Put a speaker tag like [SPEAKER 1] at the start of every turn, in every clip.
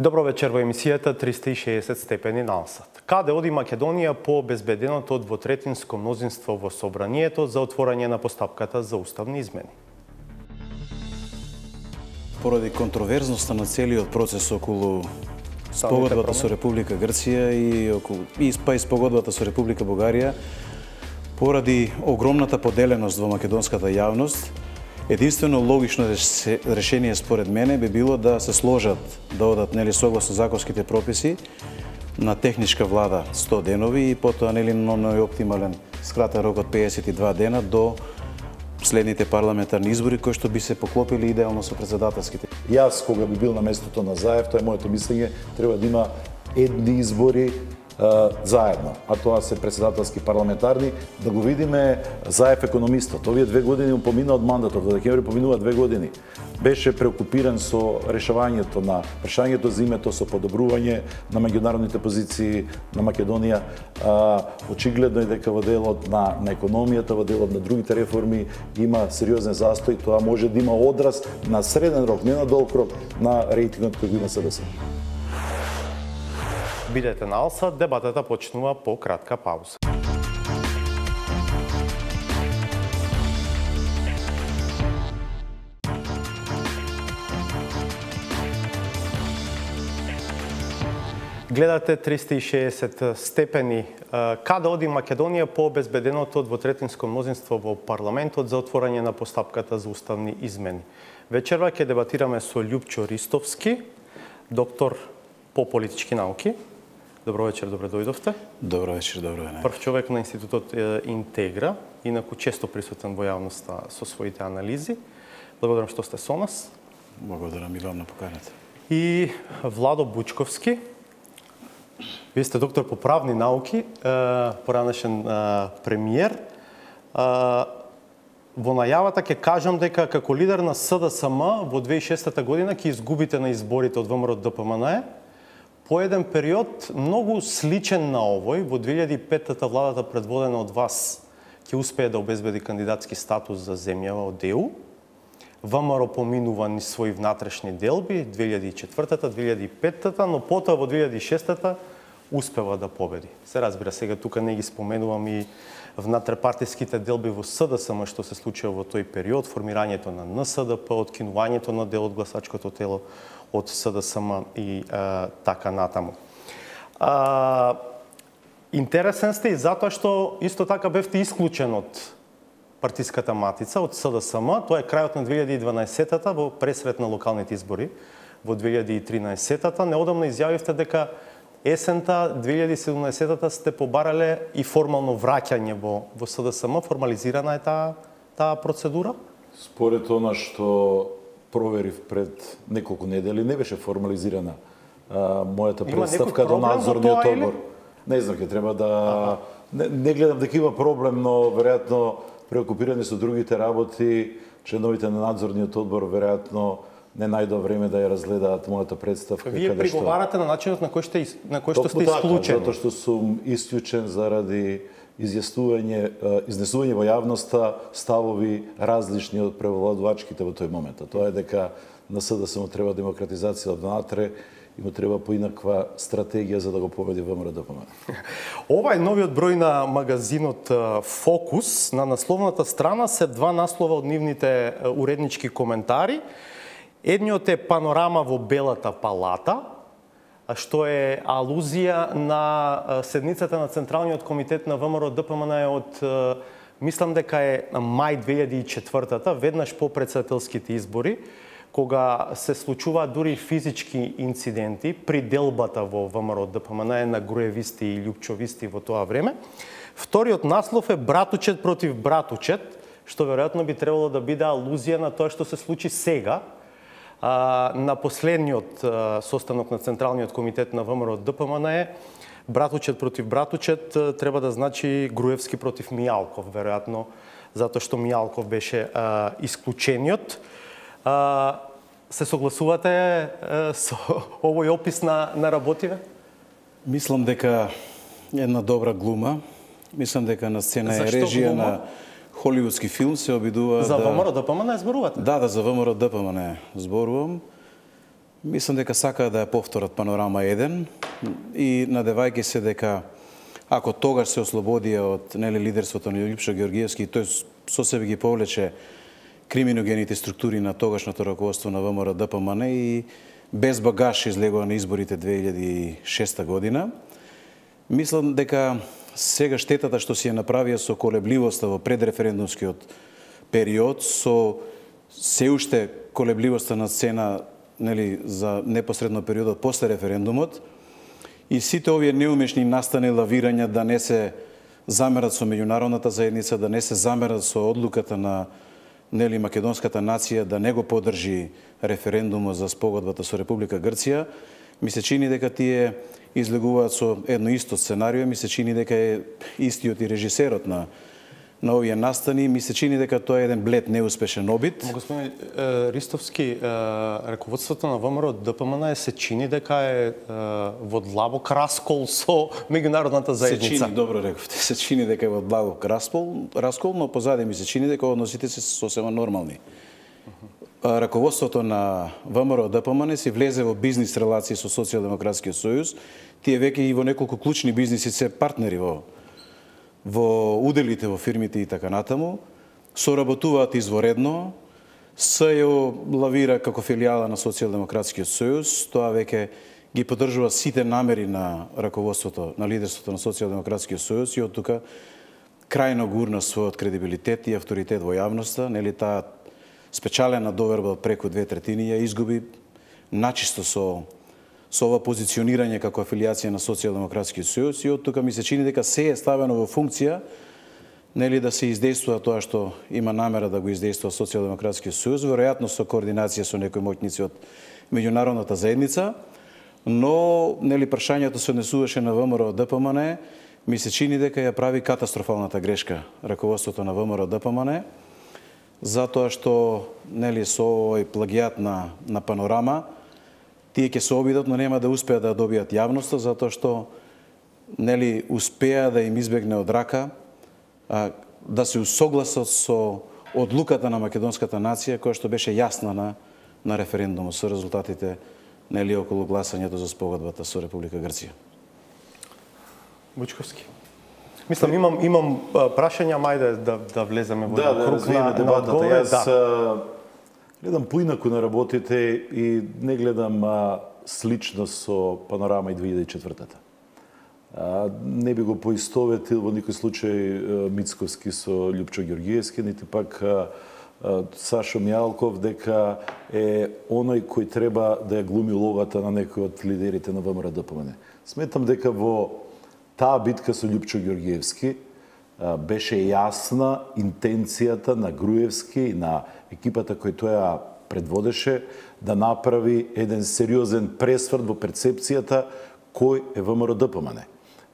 [SPEAKER 1] Добро вечер во емисијата 360 степени налсат. Каде оди Македонија по обезбеденото двотретинско мнозинство во собранието за отворање на постапката за уставни измени?
[SPEAKER 2] Поради контроверзноста на целиот процес околу спогодбата со Република Грција и спогодбата со Република Бугарија, поради огромната поделеност во македонската јавност, единствено логично решение според мене би било да се сложат, да одат согласно законските прописи на техничка влада 100 денови и потоа на најоптимален скратен рок од 52 дена до следните парламентарни избори кои што би се поклопили идеално со председателските.
[SPEAKER 3] Јас кога би бил на местото на Заев, тоа е моето мислење, треба да има едни избори заедно, а тоа се председателски парламентарни, да го видиме Заев економистот. Овие 2 години помина од мандатот, во декември поминува 2 години. Беше преокупиран со решавањето на прашањето за името, со подобрување на меѓународните позиции на Македонија. Очигледно е дека во делот на економијата, во делот на другите реформи има сериозен застој. Тоа може да има одраз на среден рок, не на долг рок, на рейтингот кој го има СДС.
[SPEAKER 1] Бидете на Алса, дебатата почнува по кратка пауза. Гледате 360 степени. Каде оди Македонија по обезбеденото двотретинско мнозинство во парламентот за отворање на постапката за уставни измени? Вечерва ќе дебатираме со Љупчо Ристовски, доктор по политички науки. Добро вечер, добре дојдовте.
[SPEAKER 2] Добро вечер, добро вечер.
[SPEAKER 1] Прв човек на Институтот Интегра, инаку често присутен во јавноста со своите анализи. Благодарам што сте со нас.
[SPEAKER 2] Благодарам и вам на поканата.
[SPEAKER 1] И Владо Бучковски. Вие сте доктор по правни науки, поранешен премиер. Во најавата ќе кажам дека како лидер на СДСМ во 2006 година ќе изгубите на изборите од ВМРО-ДПМНЕ. По еден период многу сличен на овој, во 2005-та владата предводена од вас ќе успее да обезбеди кандидатски статус за земјава од ЕУ. ВМРО поминува низ своји внатрешни делби 2004-та, 2005-та, но потоа во 2006-та успева да победи. Се разбира, сега тука не ги споменувам и внатрепартиските делби во СДСМ што се случува во тој период, формирањето на НСДП, откинувањето на дел од гласачкото тело од СДСМ и така натаму. Интересен сте и затоа што исто така бевте исклучен од партиската матица, од СДСМ. Тоа е крајот на 2012-та во пресрет на локалните избори во 2013-та. Неодамно изјавивте дека есента 2017-та сте побарале и формално враќање во СДСМ. Формализирана е таа процедура?
[SPEAKER 3] Според она што проверив пред неколку недели, не беше формализирана мојата представка до надзорниот одбор. Не знам, ќе треба да... Не гледам дека има проблем, но веројатно преокупирани со другите работи, членовите на надзорниот одбор веројатно не најдоа време да ја разгледаат мојата представка.
[SPEAKER 1] Вие приговарате на начинот на кој што сте исклучени?
[SPEAKER 3] Затоа што сум исклучен заради изнесување во јавноста ставови различни од превладувачките во тој момент. Тоа е дека на СДСМ треба демократизација од внатре и му треба поинаква стратегија за да го победи ВМРО-ДПМНЕ.
[SPEAKER 1] Ова е новиот број на магазинот Фокус. На насловната страна се 2 наслова од нивните уреднички коментари. Едниот е панорама во Белата палата, што е алузија на седницата на Централниот комитет на ВМРО-ДПМНЕ од, мислам дека е мај 2004-та, веднаш по председателските избори, кога се случуваат дури физички инциденти при делбата во ВМРО-ДПМНЕ на груевисти и љупчовисти во тоа време. Вториот наслов е Братучет против Братучет, што веројатно би требало да биде алузија на тоа што се случи сега, на последниот состанок на Централниот комитет на ВМРО-ДПМНЕ. Братучет против Братучет треба да значи Груевски против Мијалков, веројатно, затоа што Мијалков беше исклучениот. Се согласувате со овој опис на работиве?
[SPEAKER 2] Мислам дека една добра глума. Мислам дека на сцена е режија на холивудски филм се обидува
[SPEAKER 1] за ВМРО-ДПМНЕ зборувате?
[SPEAKER 2] Да, за ВМРО-ДПМНЕ зборувам. Мислам дека сакаа да ја повторат Панорама 1 и надевајќи се дека ако тогаш се ослободија од лидерството на Лјупчо Ѓоргиевски, тој со себе ги повлече криминогените структури на тогашното раководство на ВМРО ДПМН и без багаж излегува на изборите 2006 година. Мислам дека сега штетата што си ја направија со колебливоста во предреферендумскиот период, со се уште колебливоста на сцена за непосредно периодот после референдумот, и сите овие неумешни настани лавирања да не се замерат со меѓународната заедница, да не се замерат со одлуката на македонската нација да не го поддржи референдумот за спогодбата со Република Грција, ми се чини дека тие излегуваат со едно исто сценарио, ми се чини дека е истиот и режисерот на овие настани, ми се чини дека тоа е еден блед неуспешен обид.
[SPEAKER 1] Господин Ристовски, раководството на ВМРО ДПМН се чини дека е во длабок раскол со меѓународната заедница.
[SPEAKER 2] Се чини, добро рековте, се чини дека е во длабок раскол, но позади ми се чини дека односите се сосема нормални. Раководството на ВМРО ДПМН си влезе во бизнис релации со Социјалдемократскиот сојуз. Тие веќе и во неколку клучни бизниси се партнери во уделите во фирмите и така натаму, соработуваат изворедно, СЈО лавира како филијала на Социјалдемократскиот сојуз, тоа веќе ги поддржува сите намери на раководството, на лидерството на Социјалдемократскиот сојуз и од тука крајно гурна својот кредибилитет и авторитет во јавноста, таа спечалена доверба од преку 2/3 ја изгуби начисто со ова позиционирање како афилијација на Социјалдемократскиот сојуз и од тука ми се чини дека се е ставено во функција да се издействува тоа што има намера да го издействува Социјалдемократскиот сојуз, веројатно со координација со некои моќници од меѓународната заедница, но прашањето се однесуваше на ВМРО ДПМН, ми се чини дека ја прави катастрофалната грешка раководството на ВМРО ДПМН, затоа што со овој плагијат на Панорама тие ќе се обидат, но нема да успеат да добијат јавноста, затоа што успеа да им избегне од рака да се усогласат со одлуката на македонската нација, која што беше јасна на референдумот со резултатите околу гласањето за спогодбата со Република Грција.
[SPEAKER 1] Бучковски. Мислам, имам прашања, мајде да влеземе во круг на дебатата.
[SPEAKER 3] Јас гледам поинаку на работите и не гледам слично со Панорама и 2004-та. Не би го поистоветил во никој случај Мицковски со Лјупчо Ѓоргиевски, нити пак Сашо Мјалков дека е оној кој треба да ја глуми улогата на некој од лидерите на ВМРО ДПМН. Сметам дека во таа битка со Лјупчо Ѓоргиевски беше јасна интенцијата на Груевски и на екипата кој тој ја предводеше да направи еден сериозен пресврт во перцепцијата кој е ВМРО ДПМН.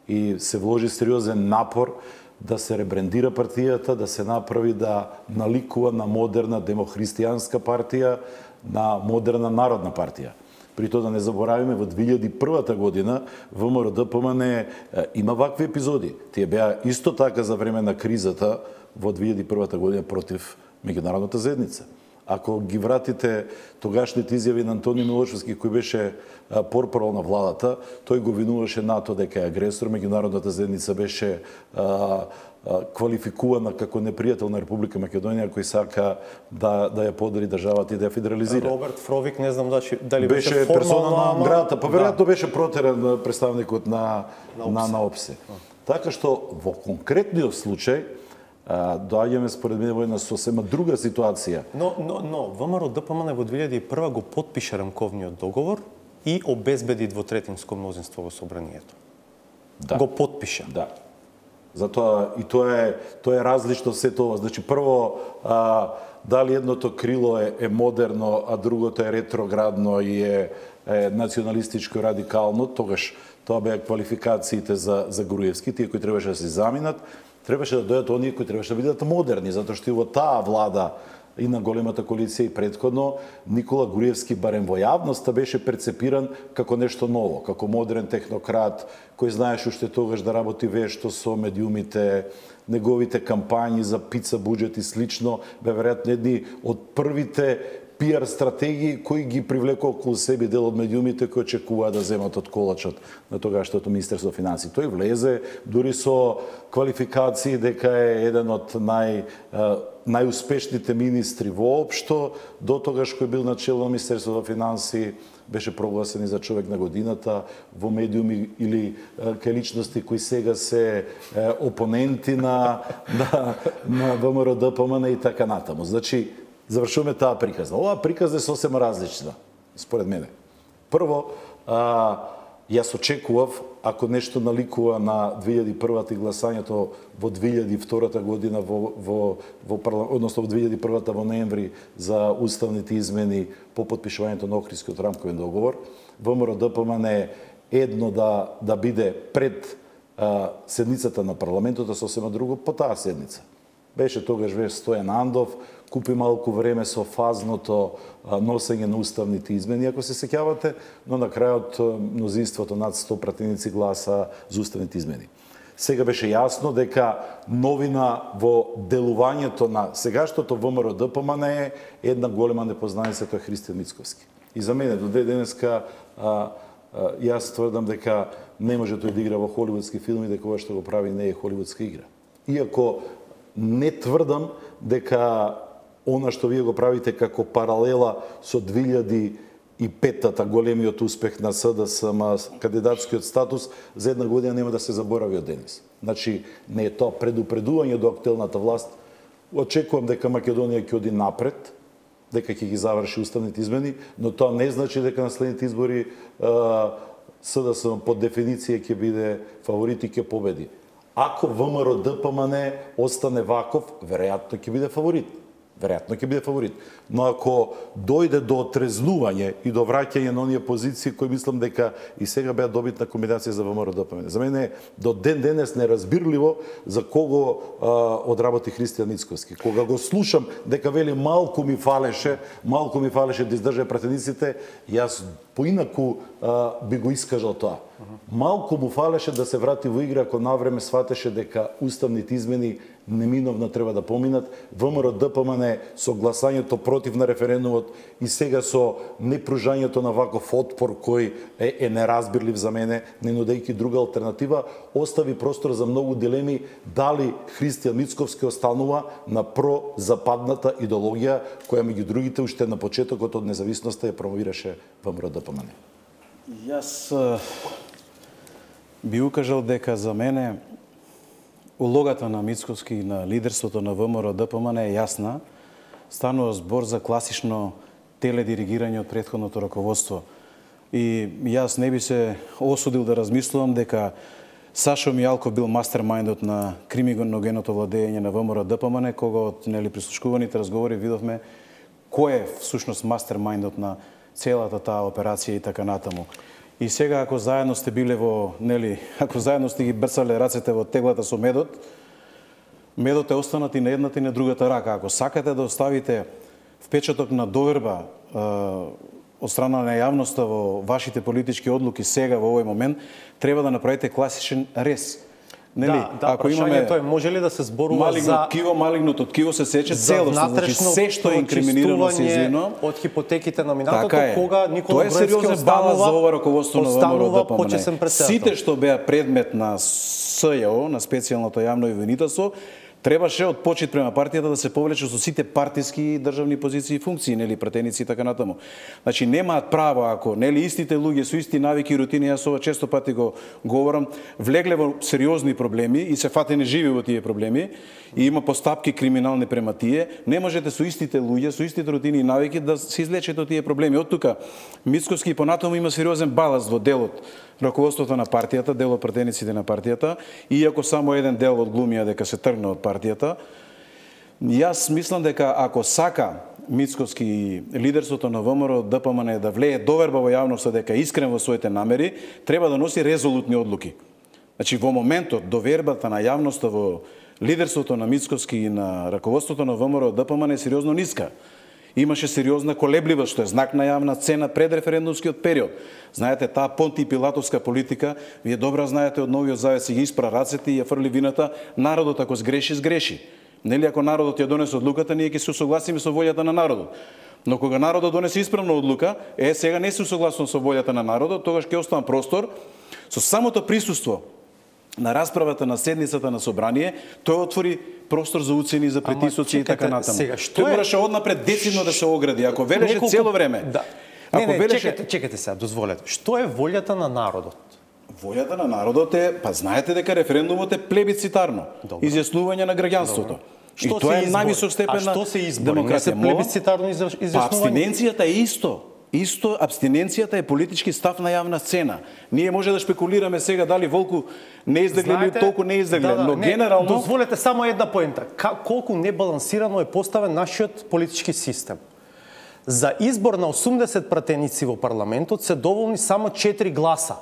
[SPEAKER 3] И се вложи сериозен напор да се ребрендира партијата, да се направи да наликува на модерна демохристијанска партија, на модерна народна партија. При тоа да не заборавиме, во 2001 година ВМРО ДПМН има вакви епизоди. Тие беа исто така за време на кризата во 2001 година против меѓународната заедница. Ако ги вратите тогашните изјави на Антони Милошевски, кој беше портпарол на владата, тој го винуваше НАТО дека е агресор, меѓународната заедница беше квалификувана како непријател на Република Македонија, кој сака да ја подели државата и да ја федерализира.
[SPEAKER 1] Роберт Фровик, не знам дали
[SPEAKER 3] беше персона на грата, па веројатно беше протеран представникот на ОПСЕ. Така што во конкретниот случај доаѓаме според мене во една сосема друга ситуација.
[SPEAKER 1] Но ВМРО ДПМН во 2001 го потпише рамковниот договор и обезбеди двотретинско мнозинство во собранието.
[SPEAKER 3] Да.
[SPEAKER 1] Го потпиша.
[SPEAKER 3] Да. Затоа и тоа е различно се тоа. Значи прво дали едното крило е модерно, а другото е ретроградно и е националистичко радикално, тогаш тоа беа квалификациите за Груевски, тие кои требаше да се заминат, требаше да дојдат оние кои требаше да бидат модерни, затоа што и во таа влада и на големата коалиција и предходно, Никола Груевски барем во јавноста беше перцепиран како нешто ново, како модерен технократ, кој знаеше уште тогаш да работи вешто со медиумите, неговите кампањи за пица буџет и слично, бе веројатно едни од првите пиар стратегии кои ги привлекоа околу себе дел од медиумите кои очекуваа да земат од колачот на тогашното Министерство финансии. Тој влезе дури со квалификации дека е еден од најуспешните министри воопшто, до тогаш кој бил начело на Министерството финансии, беше прогласен и за човек на годината во медиуми или кај личности кои сега се опоненти на ВМРО ДПМН и така натаму. Значи, завршуваме таа приказна. Оваа приказна е сосема различна, според мене. Прво, јас очекував, ако нешто наликува на 2001 и гласањето во 2002 година односно во 2001 во ноември за уставните измени по потпишувањето на Охридскиот рамковен договор, ВМРО ДПМН е едно да биде пред седницата на парламентот, а сосема друго по таа седница. Беше тогаш Стојан Андов, купи малку време со фазното носење на уставните измени, ако се сеќавате, но на крајот мнозинството над 100 пратеници гласа за уставните измени. Сега беше јасно дека новина во делувањето на сегашното ВМРО ДПМН е една голема непознаница, тоа е Христијан Мицковски. И за мене до денеска јас тврдам дека не може тој да игра во холивудски филми, дека ова што го прави не е холивудска игра. Иако не тврдам дека она што вие го правите како паралела со 2005-та големиот успех на СДСМ, кандидатскиот статус, за една година нема да се заборави од денес. Значи, не е тоа предупредување до актуелната власт. Очекувам дека Македонија ќе оди напред, дека ќе ги заврши уставните измени, но тоа не значи дека на следните избори СДСМ по дефиниција ќе биде фаворит и ќе победи. Ако ВМРО ДПМН остане ваков, веројатно ќе биде фаворит. Но ако дојде до отрезнување и до враќање на оние позиции кои мислам дека и сега беа добитна комбинација за ВМРО ДПМН. За мене е до ден денес неразбирливо за кого одработи Христијан Мицковски. Кога го слушам дека вели малку ми фалеше да издржа пратениците, јас поинаку би го искажал тоа. Малку му фалеше да се врати во игра, ако навреме сватеше дека уставните измени неминовно треба да поминат. ВМРО ДПМН со гласањето против на референдумот и сега со непружањето на ваков отпор кој е неразбирлив за мене, не нудејќи друга алтернатива, остави простор за многу дилеми дали Христијан Мицковски останува на прозападната идеологија која меѓу другите уште на почетокот од независноста ја промовираше ВМРО ДПМН.
[SPEAKER 2] Јас би укажал дека за мене улогата на Мицковски и на лидерството на ВМРО ДПМН е јасна. Станува збор за класично теледиригирање од претходното раководство. И јас не би се осудил да размислувам дека Сашо Мијалков бил мастермајндот на криминогеното владење на ВМРО ДПМН, кога од прислушкуваните разговори видовме кој е всушност мастермајндот на целата таа операција и така натаму. И сега ако заедно сте биле ако заедно сте ги брцале рацете во теглата со медот, медот е останат и на едната и на другата рака. Ако сакате да оставите впечаток на доверба од страна на јавноста во вашите политички одлуки сега во овој момент, треба да направите класичен рез.
[SPEAKER 1] Ако имаме тоа може ли да се зборува за
[SPEAKER 2] малигното ткиво се сече целосно, значи се што е инкриминирано се извино
[SPEAKER 1] од хипотеките на минатото,
[SPEAKER 2] кога
[SPEAKER 1] Никола
[SPEAKER 2] Груевски останува за ова раководство на ВМРО ДПМН. Сите што беа предмет на СЈО, на специјалното јавно обвинителство, требаше од почит према партијата да се повлече со сите партиски и државни позиции и функции, пратеници и така натаму. Значи немаат право ако истите луѓе со исти навики и рутини, јас ова често пати го говорам, влегле во сериозни проблеми и се фатени живи во тие проблеми и има постапки криминални према тие, не можете со истите луѓе, со истите рутини и навики да се излечете од тие проблеми. Од тука Мицковски понатаму има сериозен баласт во делот раководството на партијата, дел од пратениците на партијата, иако само еден дел одглумија дека се тргна од партијата. Јас мислам дека ако сака Мицковски и лидерството на ВМРО ДПМН да влее доверба во јавноста дека е искрен во своите намери, треба да носи резолутни одлуки. Значи во моментот довербата на јавноста во лидерството на Мицковски и на раководството на ВМРО ДПМН е сериозно ниска. Имаше сериозна колебливост, што е знак на јавна цена пред референдумскиот период. Знаете, таа Понти Пилатовска политика, вие добро знаете од Новиот Завет си ги испра рацете и ја фрли вината, народот ако сгреши, сгреши. Ако народот ја донесе одлуката, ние ќе се согласиме со волјата на народот. Но кога народот донесе исправна одлука, сега не се согласно со волјата на народот, тогаш ќе оставам простор со самото присуство на расправата на седницата на собрание, тој отвори простор за уцени, за притисоци и така натаму. Тој мораше однапред децидно да се огради. Ако велеше цело време.
[SPEAKER 1] Да. Чекайте сега, дозволете. Што е волјата на народот?
[SPEAKER 2] Волјата на народот е, па знаете дека референдумот е плебисцитарно. Изјаснување на граѓанството. И тоа е највисок степен на демократија.
[SPEAKER 1] Плебисцитарно изјаснување?
[SPEAKER 2] Па абстиненцијата е исто. Исто, абстиненцијата е политички став на јавна сцена. Ние може да шпекулираме сега дали Волку не излегле или толку не излегле, но генерално...
[SPEAKER 1] Дозволете само една поента. Колку небалансирано е поставен нашиот политички систем. За избор на 80 пратеници во парламентот се доволни само 4 гласа.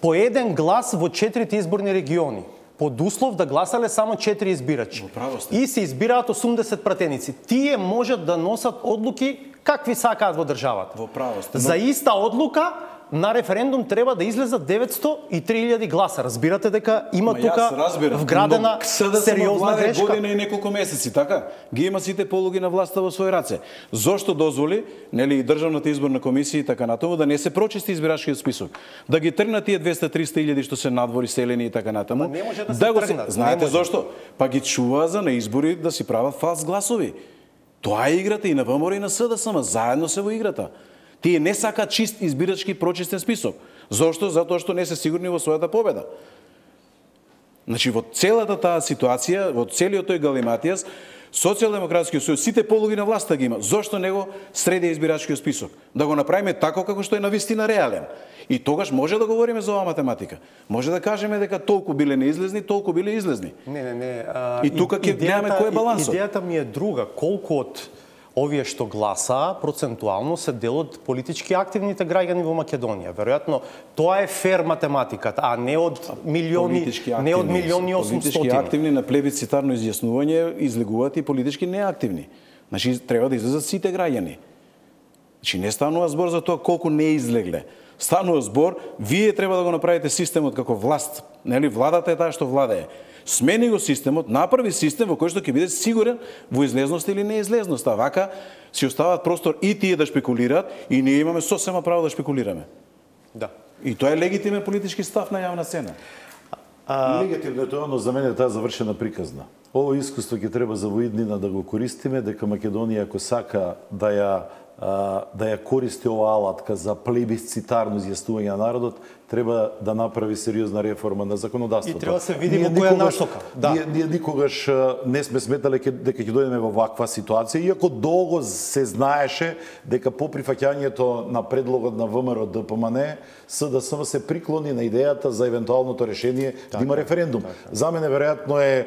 [SPEAKER 1] По еден глас во 4 изборни региони. Под услов да гласале само 4 избирачи. И се избираат 80 пратеници. Тие можат да носат одлуки какви сакаат во државата.
[SPEAKER 2] Во право сте.
[SPEAKER 1] За иста одлука на референдум треба да излезат 903.000 гласа. Разбирате дека има тука вградена сериозна грешка.
[SPEAKER 2] Година и неколку месеци, така? Ги има сите полуги на власта во своји раце. Зошто дозволи, нели, и Државната изборна комисија и така натаму да не се прочисти избирачкиот список, да ги тргнат тие 200-300.000 што се надвори селени и така натаму.
[SPEAKER 1] Не може да се тргнат.
[SPEAKER 2] Знаете зошто? Па ги чува за на избори да си прават фалс гласови. Тоа е играта и на ВМРО и на СДСМ, заедно се во играта. Тие не сакаат чист избирачки прочистен список. Зошто? Затоа што не се сигурни во својата победа. Значи, во целата таа ситуација, во целиот тој галиматијас, Социјалдемократскиот сојуз, сите полуги на власта ги има. Зошто него среди избирачкиот список? Да го направиме тако како што е навистина реален. И тогаш може да говориме за оваа математика. Може да кажеме дека толку биле неизлезни, толку биле излезни.
[SPEAKER 1] Не.
[SPEAKER 2] И тука ќе гледаме кој е балансот.
[SPEAKER 1] Идејата ми е друга. Колку од овие што гласаа процентуално се дел од политички активните граѓани во Македонија. Веројатно тоа е фер математиката, а не од милиони, не од милиони 800.
[SPEAKER 2] Политички активни на плебисцитарно изјаснување излегуваат и политички неактивни. Значи треба да излезат сите граѓани. Значи не станува збор за тоа колку не излегле. Станува збор, вие треба да го направите системот како власт, нели, владата е таа што владее. Смени го системот, направи систем во кој што ќе биде сигурен во излезност или неизлезност. А вака си оставаат простор и тие да шпекулираат и ние имаме сосема право да шпекулираме.
[SPEAKER 1] Да.
[SPEAKER 2] И тоа е легитимен политички став на јавна сцена.
[SPEAKER 3] Легитимно е тоа, но за мене таа завршена приказна. Ово искуство ќе треба за воиднина да го користиме, дека Македонија ако сака да ја користи оваа алатка за плебисцитарно изјаснување на народот, треба да направи сериозна реформа на законодавството.
[SPEAKER 1] И треба да се види во која насока.
[SPEAKER 3] Ние никогаш не сме сметале дека ќе дојдеме во ваква ситуација, иако долго се знаеше дека по прифаќањето на предлогот на ВМРО ДПМН, СДСМ се приклони на идејата за евентуалното решение да има референдум. За мене веројатно е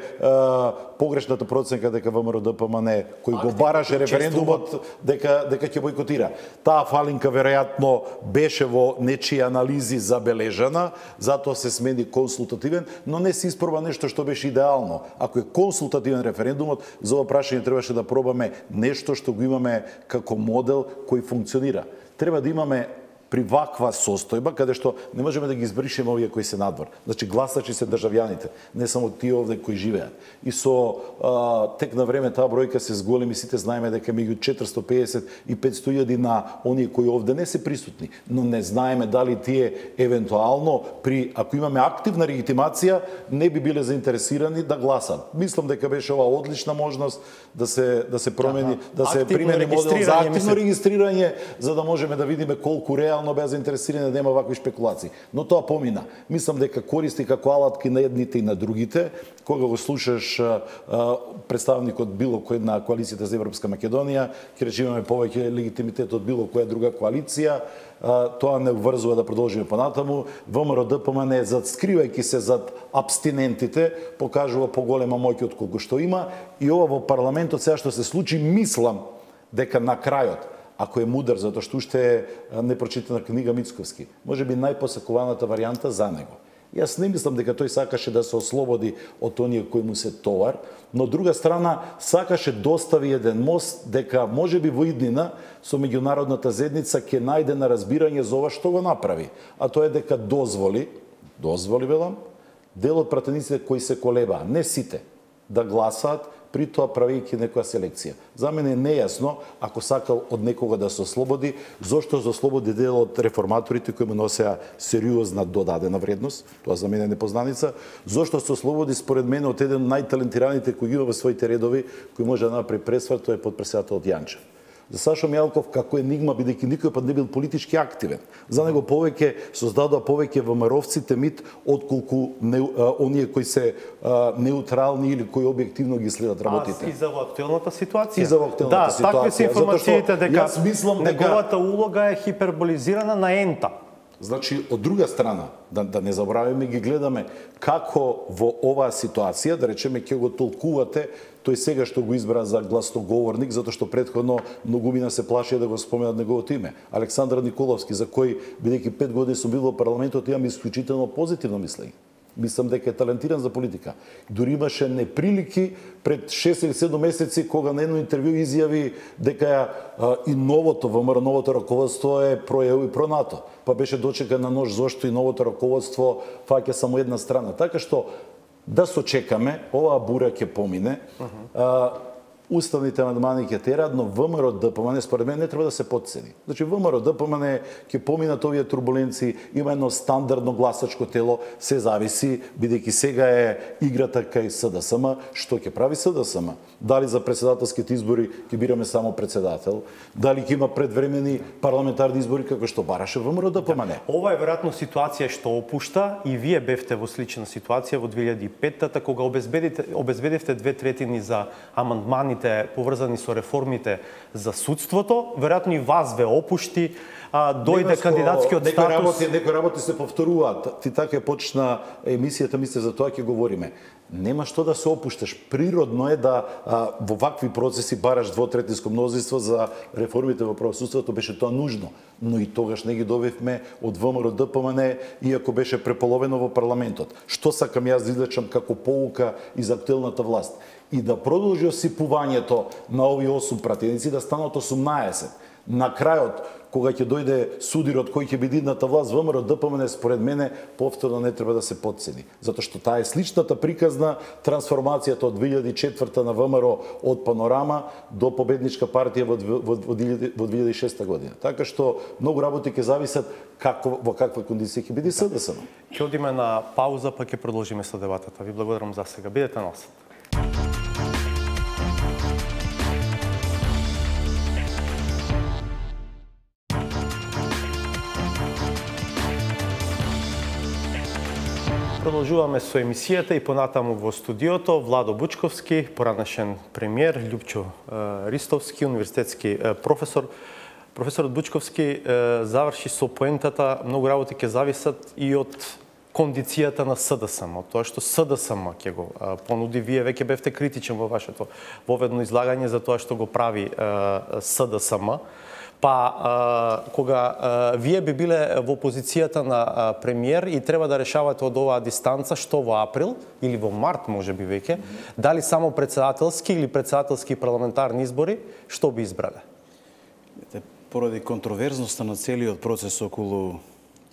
[SPEAKER 3] погрешната проценка дека ВМРО ДПМН кој го бараше референдумот дека ќе бойкотира. Таа фалинка веројатно беше во нечии анализи забележана, затоа се смени консултативен, но не се испроба нешто што беше идеално. Ако е консултативен референдумот, за ова прашање требаше да пробаме нешто што го имаме како модел кој функционира. Треба да имаме при ваква состојба, каде што не можеме да ги избришеме овие кои се надвор. Значи, гласачи се државјаните, не само тие овде кои живеат. И со тек на време таа бројка се зголеми, сите знаеме дека меѓу 450 и 500.000 на оние кои овде не се присутни, но не знаеме дали тие евентуално ако имаме активна легитимација, не би биле заинтересирани да гласат. Мислам дека беше ова одлична можност да се промени, да се примени модел за активно регистрирање, за да можеме да видиме колку реално беа заинтересирани да нема вакви шпекулации. Но тоа помина. Мислам дека користи како алатки на едните и на другите. Кога го слушаш представникот било кој на коалицијата за Европска Македонија, ќе речеме имаме повеќе легитимитет од било која друга коалиција, тоа не врзува да продолжиме понатаму. ВМРО ДПМН, скривајќи се зад абстинентите, покажува поголема моќ од колку што има, и ова во парламентот сега што се случи, мислам дека на крајот, ако е мудар, затоа што уште е непрочитана книга Мицковски, можеби најпосакуваната варијанта за него. Јас не мислам дека тој сакаше да се ослободи од оние кои му се товар, но од друга страна сакаше достави еден мост дека можеби во иднина со меѓународната заедница ќе најде на разбирање за ова што го направи, а тоа е дека дозволи велам, дел од пратениците кои се колебаа, не сите, да гласаат при тоа правејќи некоја селекција. За мене е нејасно, ако сакал од некога да се ослободи, зошто се ослободи дел од реформаторите кои му носеа сериозна додадена вредност, тоа за мене е непознаница, зошто се ослободи според мене од еден најталентираните кои ги има во своите редови, кој може да направи пресвар, тој е потпредседателот Јанчев. За Сашо Мјалков како енигма, бидејќи никој пат не бил политички активен. За него повеќе создадоа повеќе ВМРО-вците мит отколку оние кои се неутрални или кои објективно ги следат работите.
[SPEAKER 1] И за актуелната ситуација.
[SPEAKER 3] И за актуелната ситуација.
[SPEAKER 1] Такви се информациите дека неговата улога е хиперболизирана на ента.
[SPEAKER 3] Значи, од друга страна, да не забравиме, ги гледаме како во оваа ситуација, да речеме, ќе го толкувате тој сега што го избра за гласноговорник, затоа што претходно многумина се плашија да го споменат неговото име. Александар Николовски, за кој, бидејќи 5 години сум бил во парламентот, имам исклучително позитивно мислење. Мислам дека е талентиран за политика. Дури имаше неприлики пред 6 или 7 месеци кога на едно интервју изјави дека и новото ВМРО, новото раководство е про-ЕУ и про-НАТО. Па беше дочекан на нож зошто и новото раководство фаќа само една страна. Така што да сочекаме, оваа бура ќе помине. Уставните амандмани ќе терат, но ВМРО ДПМН според мен не треба да се потцени. Значи ВМРО ДПМН ќе поминат овие турбуленции, има едно стандардно гласачко тело, се зависи, бидејќи сега е играта кај СДСМ, што ќе прави СДСМ? Дали за председателските избори ќе бираме само председател, дали ќе има предвремени парламентарни избори како што бараше ВМРО ДПМН?
[SPEAKER 1] Ова е веројатно ситуација што опушта и вие бевте во слична ситуација во 2005-та кога обезбедивте 2/3 за амандмани поврзани со реформите за судството, веројатно и вас ве опушти, дојде кандидатскиот статус.
[SPEAKER 3] Некои работи се повторуваат. Ти така почна емисијата, мисля, за тоа ќе говориме. Нема што да се опушташ. Природно е да во вакви процеси бараш 2/3 мнозинство за реформите во правосудството, беше тоа нужно. Но и тогаш не ги добивме од ВМРО ДПМН, иако беше преполовено во парламентот. Што сакам јас да извлечам како поука и за актуелната власт? И да продолжи осипувањето на овие 8 пратеници, да станат 18. На крајот, кога ќе дојде судирот кој ќе биде идната власт, ВМРО ДПМН според мене повторно не треба да се потцени, затоа што таа е сличната приказна трансформацијата од 2004 на ВМРО од Панорама до победничка партија во 2006 година. Така што многу работи ќе зависат во каква кондиција ќе биде СДСМ.
[SPEAKER 1] Ќе одиме на пауза, па ќе продолжиме со дебатата. Ви благодарам за сега. Бидете на осет. Продолжуваме со емисијата и понатаму во студиото Владо Бучковски, поранешен премиер, Љупчо Ристовски, универзитетски професор. Професорот Бучковски заврши со поентата, многу работи ќе зависат и од кондицијата на СДСМ, од тоа што СДСМ ќе го понуди. Вие веќе бевте критичен во вашето воведно излагање за тоа што го прави СДСМ. Па, кога вие би биле во позицијата на премиер и треба да решавате од оваа дистанца, што во април или во март може би веќе, дали само председателски или председателски парламентарни избори, што би избрале?
[SPEAKER 2] Поради контроверзноста на целиот процес околу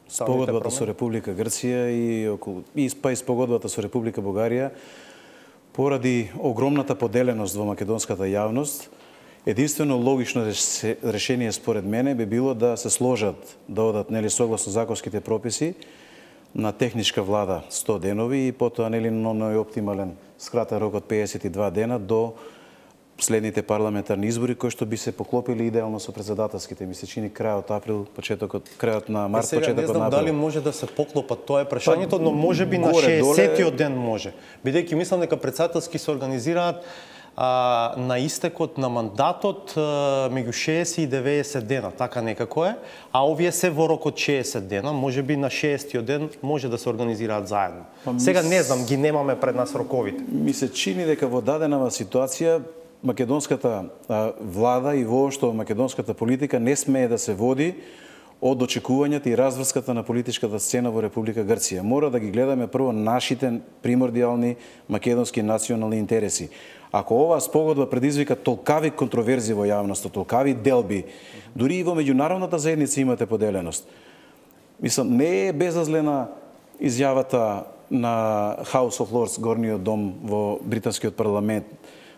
[SPEAKER 2] спогодбата со Република Грција и спогодбата со Република Бугарија, поради огромната поделеност во македонската јавност, единствено логично решение според мене би било да се сложат, да одат согласно законските прописи на техничка влада 100 денови и потоа на најоптимален скратен рок од 52 дена до следните парламентарни избори кои што би се поклопили идеално со председателските. Ми се чини крајот април, крајот на март, почетокот на април.
[SPEAKER 1] Не знам дали може да се поклопат, тоа е прашањето, но може би на 60-тиот ден може. Бидејќи мислам дека председателски се организираат на истекот на мандатот меѓу 60 и 90 дена, така некако е, а овие се во рок од 60 дена, може би на 60-тиот ден може да се организираат заедно. Сега не знам, ги немаме пред нас роковите.
[SPEAKER 2] Ми се чини дека во дадена ситуација македонската влада и воопшто македонската политика не смее да се води од очекувањата и разврската на политичката сцена во Република Грција. Мора да ги гледаме прво нашите примордиални македонски национални интереси. Ако оваа спогодба предизвика толкави контроверзи во јавноста, толкави делби, дури и во меѓународната заедница имате поделеност. Мислам, не е безазлена изјавата на House of Lords, горниот дом во британскиот парламент,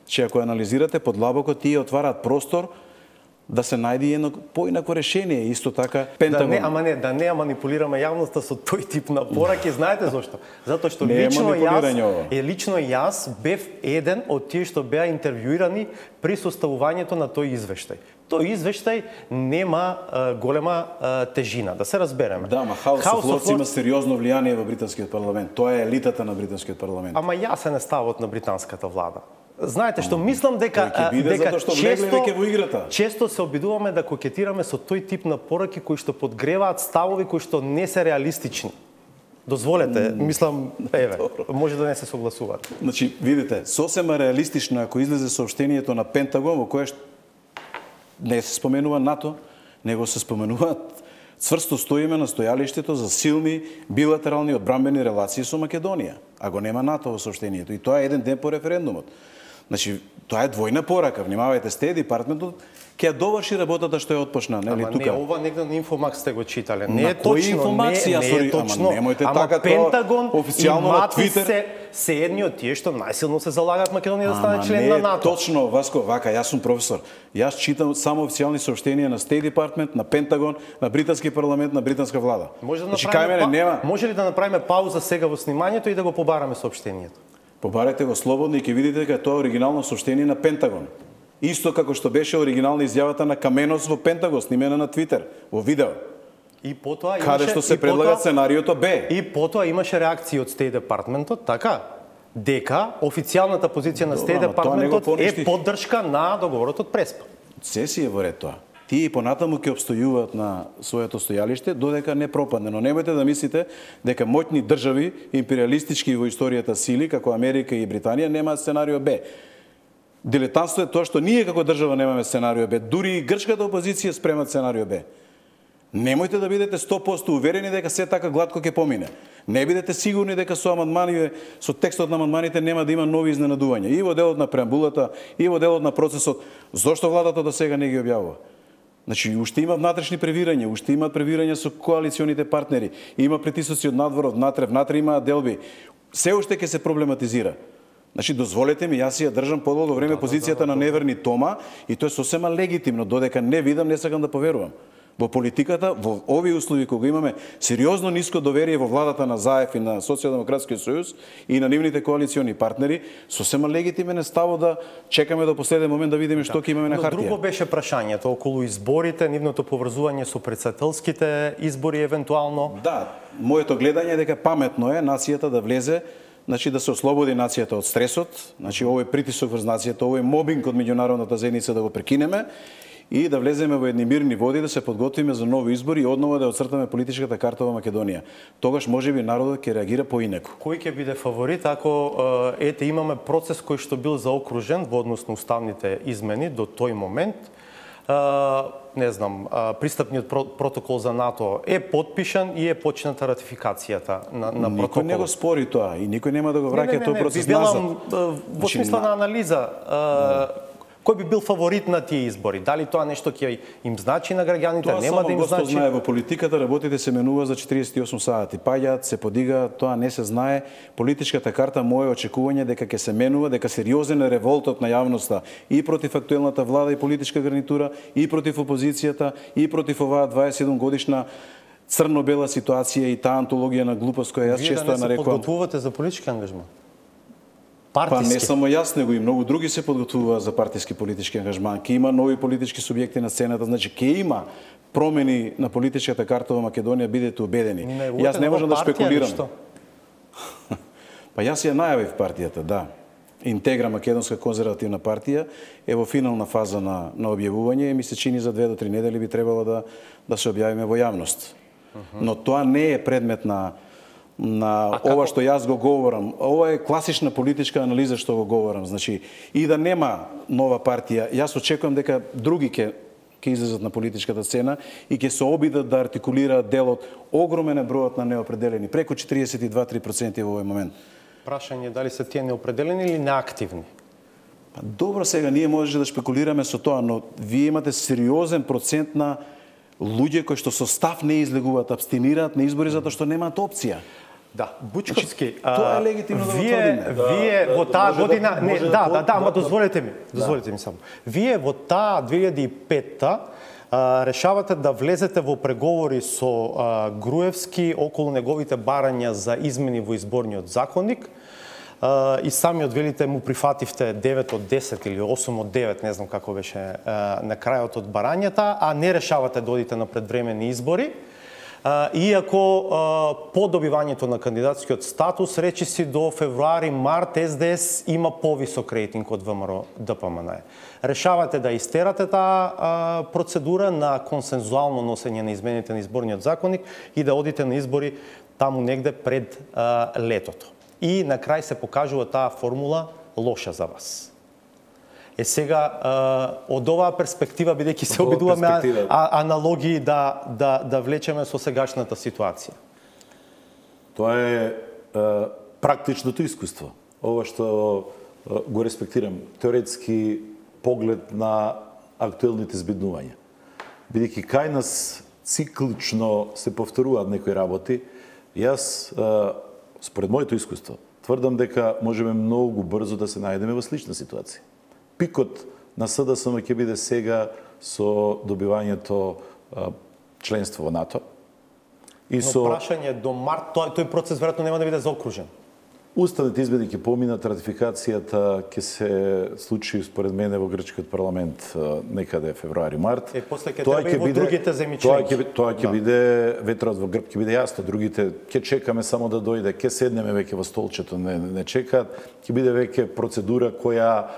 [SPEAKER 2] че ако анализирате подлабоко, тие отвараат простор да се најде едно поинако решение. Исто така Пентагон.
[SPEAKER 1] Да не манипулираме јавноста со тој тип на пораки, знаете зошто? Затоа што
[SPEAKER 2] не
[SPEAKER 1] лично јас бев еден од тие што беа интервјуирани при составувањето на тој извештај. Тој извештај нема голема тежина, да се разбереме.
[SPEAKER 2] Да, ма House of Lords има сериозно влијание во британскиот парламент. Тоа е елитата на британскиот парламент.
[SPEAKER 1] Ама јас не ставот на британската влада. Знаете што мислам дека често се обидуваме да кокетираме со тој тип на пораки кои што подгреваат ставови кои што не се реалистични. Дозволете, мислам, може да не се согласуваат.
[SPEAKER 2] Значи, видите, сосема реалистично ако излезе соопштението на Пентагон во кое не се споменува НАТО, него се споменуваат цврсто стоиме на стојалиштето за силни билатерални одбранбени релации со Македонија. А го нема НАТО во соопштението и тоа е еден ден по референдумот. Значи, тоа е двојна порака. Внимавајте, Стејт департментот ќе ја доврши работата што ја отпочна, нели тука.
[SPEAKER 1] Ама не ова негде на Инфомакс сте го читале. Не е точно,
[SPEAKER 2] не е точно. Ама немојте така
[SPEAKER 1] Пентагон
[SPEAKER 2] официјално на Твитер
[SPEAKER 1] се едни од тие што најсилно се залагаат Македонија да стане член на НАТО.
[SPEAKER 2] Точно, Васко, вака, јас сум професор. Јас читам само официјални соопштенија на Стејт департмент, на Пентагон, на британски парламент, на британска влада.
[SPEAKER 1] Може ли да направиме пауза сега во снимањето и да го побараме соопштението?
[SPEAKER 2] Побарете го слободно и ќе видите дека тоа е оригинално соопштение на Пентагон. Исто како што беше оригинална изјавата на Каменос во Пентагон, снимена на Твитер, во видео.
[SPEAKER 1] И потоа
[SPEAKER 2] каде што се предлага сценариото Б.
[SPEAKER 1] И потоа имаше реакции од Стејт департментот, така, дека официјалната позиција на Стејт департментот е поддршка на договорот од Преспа.
[SPEAKER 2] Се си е во ред тоа. Тие и понатаму ќе обстојуваат на своето стојалиште додека не пропадне, но немојте да мислите дека моќни држави, империалистички во историјата сили како Америка и Британија немаат сценарио Б. Дилетантство е тоа што ние како држава немаме сценарио Б, дури и грчката опозиција спремат сценарио Б. Немојте да бидете 100% уверени дека се така гладко ќе помине. Не бидете сигурни дека со амандмани, со текстот на амандманите нема да има нови изненадувања и во делот на преамбулата, и во делот на процесот. Зошто владата до сега не ги објавува? Значи, уште има внатрешни превирања, уште имаат превирања со коалиционите партнери, има притисоци од надвор, од внатре имаат делби. Се уште ќе се проблематизира. Значи, дозволете ми, јас ја држам подолго време позицијата на неверни Тома и тоа е сосема легитимно, додека не видам, не сакам да поверувам. Во политиката, во овие услови кога имаме сериозно ниско доверие во владата на ЗАЕФ и на Социјалдемократскиот сојуз и на нивните коалициони партнери, сосема легитимен е ставот да чекаме до последен момент да видиме што ќе имаме на хартија.
[SPEAKER 1] Друго беше прашањето околу изборите, нивното поврзување со претседателските избори евентуално.
[SPEAKER 2] Да, моето гледање е дека паметно е нацијата да влезе, значи да се ослободи нацијата од стресот, значи овој притисок врз нацијата, овој мобинг од меѓународната заедница да го прекинеме и да влеземе во едни мирни води, да се подготвиме за нови избори и однова да оцртаме политичката карта во Македонија. Тогаш можеби народот ќе реагира поинаку.
[SPEAKER 1] Кој ќе биде фаворит ако имаме процес кој што бил заокружен во однос на уставните измени до тој момент? Не знам, пристапниот протокол за НАТО е подпишан и е почната ратификацијата на протоколот.
[SPEAKER 2] Никој не го спори тоа и никој нема да го враќа тој процес назад.
[SPEAKER 1] Во смисла на анализа, кој би бил фаворит на тие избори? Дали тоа нешто ќе им значи на граѓаните, нема да им значи?
[SPEAKER 2] Тоа само знае, во политиката работите се менува за 48 сати. Паѓаат, се подига, тоа не се знае. Политичката карта, мое очекување дека ќе се менува, дека сериозен е револтот на јавноста и против актуелната влада и политичка гарнитура, и против опозицијата, и против оваа 27 годишна црно-бела ситуација и таа антологија на глупост која јас често ја нарекувам.
[SPEAKER 1] Вие да не се подготвувате за политички ангажмент?
[SPEAKER 2] Па не само јас, него и многу други се подготвуваат за партиски политички ангажман. Ке има нови политички субјекти на сцената, значи ке има промени на политичката карта во Македонија, бидете убедени. Јас не можам да спекулирам. Па јас ја најавив партијата, да. Интегра Македонска конзервативна партија е во финална фаза на објавување и ми се чини за 2 до 3 недели би требало да се објавиме во јавност. Но тоа не е предмет на ова што јас го говорам. Ова е класична политичка анализа што го говорам. Значи, и да нема нова партија, јас очекувам дека други ќе излезат на политичката сцена и ќе се обидат да артикулираат делот. Огромен е бројот на неопределени, преку 42-3% во овој момент.
[SPEAKER 1] Прашање дали се тие неопределени или неактивни?
[SPEAKER 2] Па добро, сега ние можеше да шпекулираме со тоа, но вие имате сериозен процент на луѓе кои што со став не излегуваат, абстинираат на избори затоа што немаат опција.
[SPEAKER 1] Да, Бучковски.
[SPEAKER 2] Тоа е легитимно да го
[SPEAKER 1] Вие во таа година, ама дозволете ми само. Вие во таа 2005-та решавате да влезете во преговори со Груевски околу неговите барања за измени во изборниот законник. И самиот велите му прифативте 9 од 10 или 8 од 9, не знам како беше на крајот од барањата, а не решавате да одите на предвремени избори. Иако по добивањето на кандидатскиот статус, речиси до февруари-март СДС има повисок рейтинг од ВМРО ДПМН. Решавате да истерате таа процедура на консензуално носење на измените на изборниот законник и да одите на избори таму негде пред летото. И на крај се покажува таа формула лоша за вас. Сега, од оваа перспектива, бидејќи се обидуваме аналогии да влечеме со сегашната ситуација.
[SPEAKER 3] Тоа е практичното искуство. Ова што го респектирам, теоретски поглед на актуелните збиднувања. Бидејќи кај нас циклично се повторуваат некои работи, јас, според моето искуство, тврдам дека можеме многу брзо да се најдеме во слична ситуација. Пикот на СДСМ ќе биде сега со добивањето членство во НАТО.
[SPEAKER 1] Но прашање до март, тој процес веројатно нема да биде заокружен.
[SPEAKER 3] Уставните измени ќе поминат, ратификацијата ќе се случи според мене во грчкиот парламент некаде февруари-март.
[SPEAKER 1] После ќе треба и во другите земји членки.
[SPEAKER 3] Тоа ќе биде ветрот во грб, ќе биде јасно, другите ќе чекаме само да дојде, ќе седнеме веќе во столчето, не чекаат, ќе биде веќе процедура која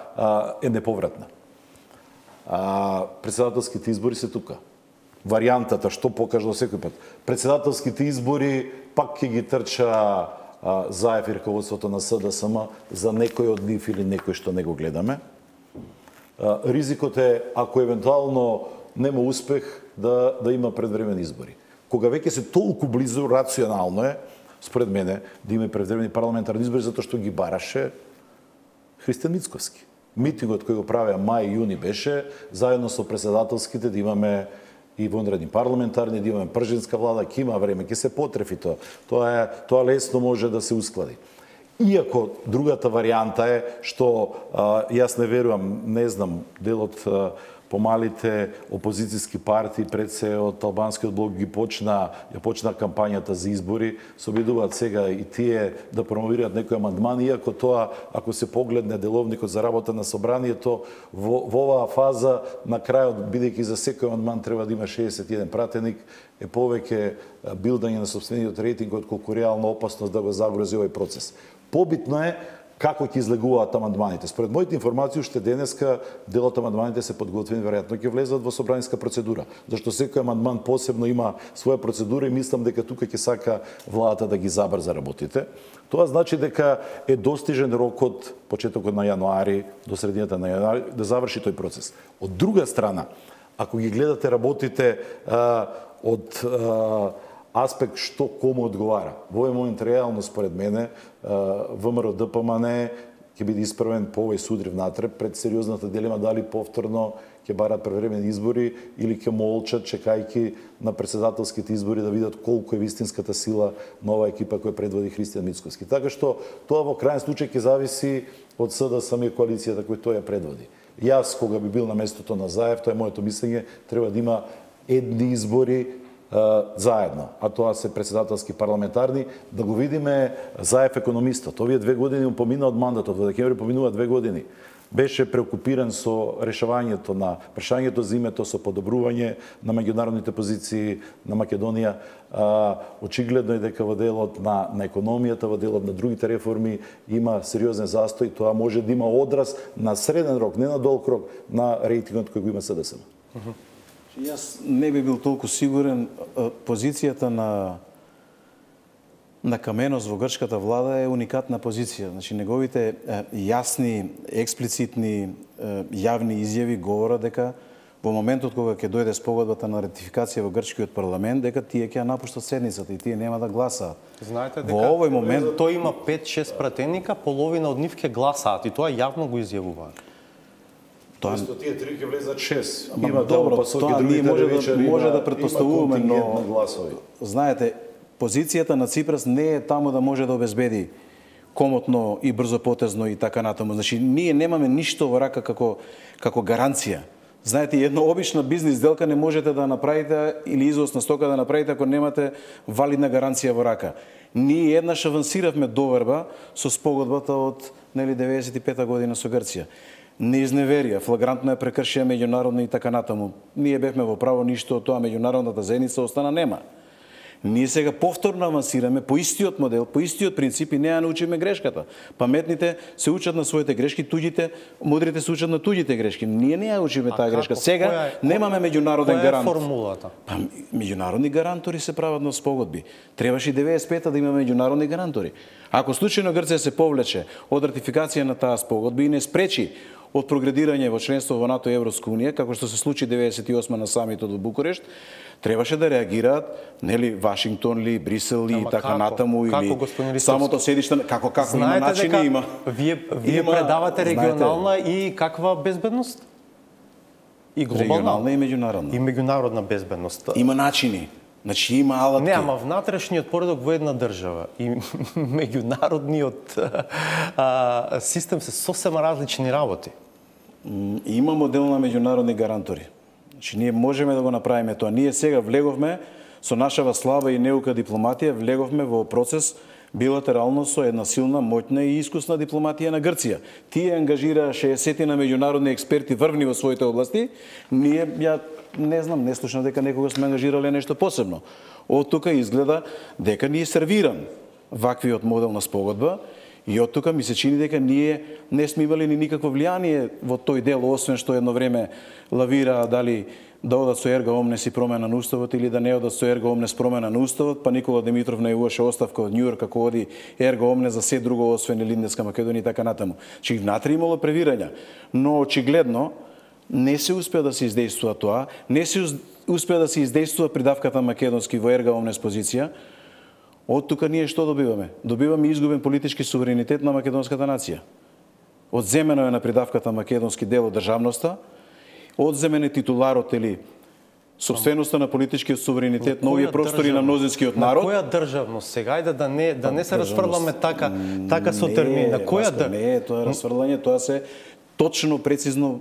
[SPEAKER 3] е неповратна. Председателските избори се тука. Варијантата што покажа секој пат. Председателските избори пак ќе ги трча Заев и раководството на СДСМ за некој од нив или некој што не го гледаме. Ризикот е, ако евентуално нема успех, да има предвремени избори. Кога веќе се толку близу, рационално е, според мене, да има предвремени парламентарни избори, затоа што ги бараше Христијан Мицковски. Митингот кој го правеа мај и јуни беше, заедно со председателските да имаме и вонредни парламентарни, да имаме пржинска влада, ќе има време, ќе се потрефи тоа. Тоа лесно може да се усклади. Иако другата варијанта е што јас не верувам, не знам, делот помалите опозицијски партии пред се од албанскиот блок ја почна кампањата за избори, се обидуваат сега и тие да промовираат некои амандмани, иако тоа, ако се погледне деловникот за работа на собранието, во оваа фаза, на крајот, бидејќи за секој амандман треба да има 61 пратеник, е повеќе билдање на сопствениот рейтинг отколку реална опасност да го загрози овој процес. Побитно е како ќе излегуваат амандманите. Според моите информации, уште денеска делот амандманите се подготвени, веројатно ќе влезат во собранска процедура, зашто секој амандман посебно има своја процедура и мислам дека тука ќе сака владата да ги забрза работите. Тоа значи дека е достижен рокот, почетокот на јануари до средината на јануари, да заврши тој процес. Од друга страна, ако ги гледате работите од аспект што кому одговара. Во овој момент реално според мене ВМРО ДПМН ќе биде исправен по овој судрив натре пред сериозната дилема дали повторно ќе барат превремени избори или ќе молчат чекајќи на председателските избори да видат колку е вистинската сила на оваа екипа која предводи Христијан Мицковски. Така што тоа во крајен случај ќе зависи од СДСМ и коалицијата која тој ја предводи. Јас кога би бил на местото на Заев, тоа е моето мислење, треба да има едни избори заедно, а тоа се председателски парламентарни, да го видиме Заев економистот. Овие 2 години му помина од мандатот, во декември поминува 2 години. Беше преокупиран со решавањето на прашањето за името, со подобрување на меѓународните позиции на Македонија. Очигледно е дека во делот на економијата, во делот на другите реформи има сериозен застој. Тоа може да има одраз на среден рок, не на долг рок, на рейтингот кој го има СДСМ.
[SPEAKER 2] Јас не би бил толку сигурен. Позицијата на Каменос во грчката влада е уникатна позиција. Значи, неговите јасни, експлицитни, јавни изјави говорат дека во моментот кога ќе дојде спогодбата на ратификација во грчкиот парламент, дека тие ќе напуштат седницата и тие нема да гласаат.
[SPEAKER 1] Знаете дека
[SPEAKER 2] во овој момент
[SPEAKER 1] тој има 5-6 пратеника, половина од нив ќе гласаат и тоа јавно го изјавуваат.
[SPEAKER 3] Место тие 3 ќе влезат 6.
[SPEAKER 2] Има добро, тоа ние може да претпоставуваме, но
[SPEAKER 3] гласови.
[SPEAKER 2] Знаете, позицијата на Ципрас не е таму да може да обезбеди комотно и брзопотезно и така натаму. Значи, ние немаме ништо во рака како гаранција. Знаете, една обична бизнис сделка не можете да направите или извоз на стока да направите ако немате валидна гаранција во рака. Ние еднаш авансиравме доверба со спогодбата од 95-та година со Грција. Неизневерија, флагрантно ја прекршија меѓународно и така натаму. Ние бевме во право, ништо од тоа, меѓународната заедница остана нема. Ние сега повторно авансираме по истиот модел, по истиот принцип и не ја научиме грешката. Паметните се учат на своите грешки, мудрите се учат на туѓите грешки. Ние не ја учиме таа грешка. Сега немаме меѓународен гарант.
[SPEAKER 1] Која е формулата?
[SPEAKER 2] Меѓународни гарантори се прават на спогодби. Требаше и 95-та да има меѓународни гарантори. Ако случајно Грција се повлече од ратификација на таа спогодба и не спречи од прогредирање во членство во НАТО и Европска унија, како што се случи 98 на самитот во Букурешт, требаше да реагираат, нели, Вашингтон ли, Брисел ли и така натаму, или самото седиште, како има начини, има.
[SPEAKER 1] Вие предавате регионална и каква безбедност? И глобална?
[SPEAKER 2] Регионална и меѓународна.
[SPEAKER 1] И меѓународна безбедност.
[SPEAKER 2] Има начини. Значи има алатки.
[SPEAKER 1] Не, ама внатрешниот поредок во една држава и меѓународниот систем се сосема различни работи.
[SPEAKER 2] Има модел на меѓународни гарантори. Значи ние можеме да го направиме тоа. Ние сега влеговме со нашава слаба и неука дипломатија, влеговме во процес билатерално со една силна, моќна и искусна дипломатија на Грција. Тие ангажира 60 на меѓународни експерти врвни во своите области. Ние не знам, не слушам дека некога сме ангажирале нешто посебно. Од тука изгледа дека ни е сервиран ваквиот модел на спогодба и од тука ми се чини дека ние не сме имали ни никакво влијание во тој дел, освен што едно време лавира дали да одат со ерга омнес и промена на уставот или да не одат со ерга омнес промена на уставот, па Никола Димитров најавуваше оставка од Њујорк како оди ерга омнес за се друго освен Илинденска Македонија и така натаму. Чи внатре имало превирања, но очигледно не се успеа да се издействува тоа, не се успеа да се издействува придавката македонски во ерга омнес позиција. Од тука ние што добиваме? Добиваме изгубен политички суверенитет на македонската нација. Одземено е на придавката македонски дел од државноста, одземен е титуларот или собственоста на политичкиот суверенитет на овие простори на мнозинскиот народ.
[SPEAKER 1] На која државност сега? Ајде да не се расфрламе така со термини. На која државност?
[SPEAKER 2] Не е тоа расфрлање, тоа се точно, прецизно